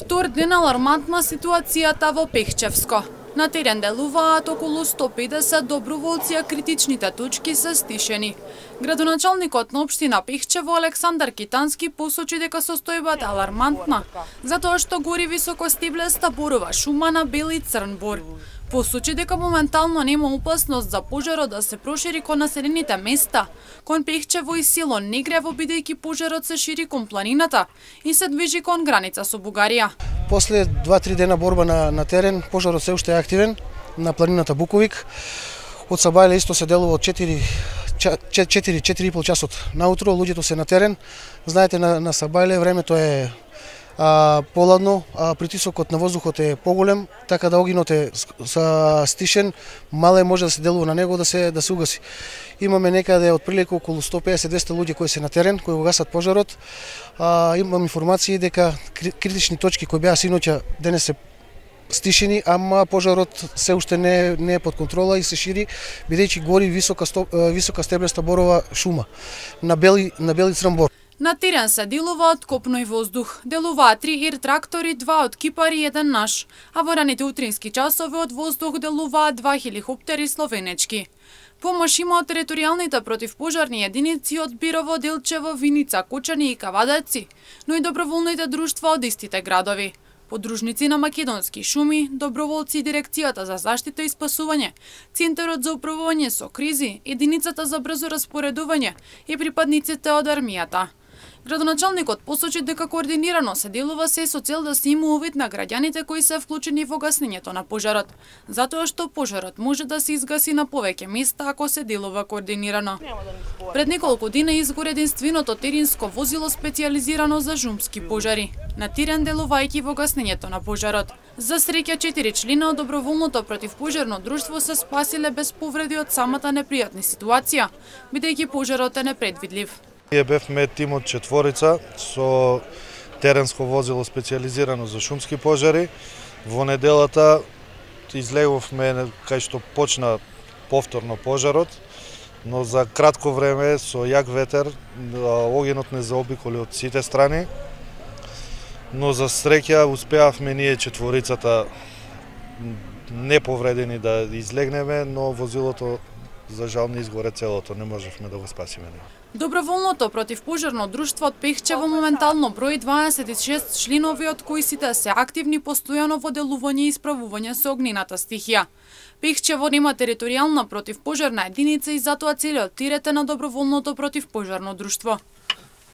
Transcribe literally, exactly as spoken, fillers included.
Втор ден алармантна ситуацијата во Пехчевско. На терен делуваат околу сто педесет доброволци, а критичните точки се стишени. Градоначалникот на општина Пехчево Александар Китански посочи дека состојбата е алармантна, затоа што гори високостеблеста борова шума на бел и црн бор. Посочи дека моментално нема опасност за пожарот да се прошири кон населените места, кон Пехчево и село Негрево, бидејќи пожарот се шири кон планината и се движи кон граница со Бугарија. После два-три дена борба на, на терен, пожарот се уште е активен на планината Буковик. Од Сабајле исто се делува од четири четири и пол часот наутро, луѓето се на терен. Знаете, на, на Сабајле времето е а, поладно, а притисокот на воздухот е поголем, така да огинот е стишен, мале може да се делува на него да се да се угаси. Имаме некаде отприлика околу сто педесет до двесте луѓе кои се на терен, кои го гасат пожарот. А, имам информации дека критични точки кои беа синоќа денес се стишени, ама пожарот се уште не, не е под контрола и се шири, бидејќи гори висока, стоп, висока стеблеста борова шума на бели, на бели црн бор. На терен се делува од копно и воздух. Делуваат три ир трактори, два од Кипар и еден наш, а во раните утрински часови од воздух делуваат два хеликоптери словенечки. Помош има од територијалните противпожарни единици од Бирово, Делчево, Виница, Кочани и Кавадаци, но и доброволните друштва од истите градови. Подружници на македонски шуми, доброволци, Дирекцијата за заштита и спасување, Центарот за управување со кризи, Единицата за брзо распоредување и припадниците од армијата. Градоначалникот посочи дека координирано се делува се со цел да се има увид на граѓаните кои се вклучени во гаснењето на пожарот, затоа што пожарот може да се изгаси на повеќе места ако се делува координирано. Пред неколку дена изгори единственото теренско возило специјализирано за шумски пожари, на терен делувајќи во гаснењето на пожарот. За среќа, четири члена од доброволното противпожарно друштво се спасиле без повреди од самата непријатна ситуација, бидејќи пожарот е непредвидлив. Ние бевме тим од четворица со теренско возило специјализирано за шумски пожари. Во неделата излеговме кај што почна повторно пожарот, но за кратко време со јак ветер огненот не заобиколи од сите страни. Но за среќа успеавме ние четворицата неповредени да излегнеме, но возилото за жал не изгоре целото, не можевме да го спасиме. Доброволното противпожарно друштво од Пехчево моментално брои дваесет и шест членови, од кои сите се активни постојано во делување и исправување со огнената стихија. Пехчево нема територијална противпожарна единица и затоа целиот терет е на доброволното противпожарно друштво.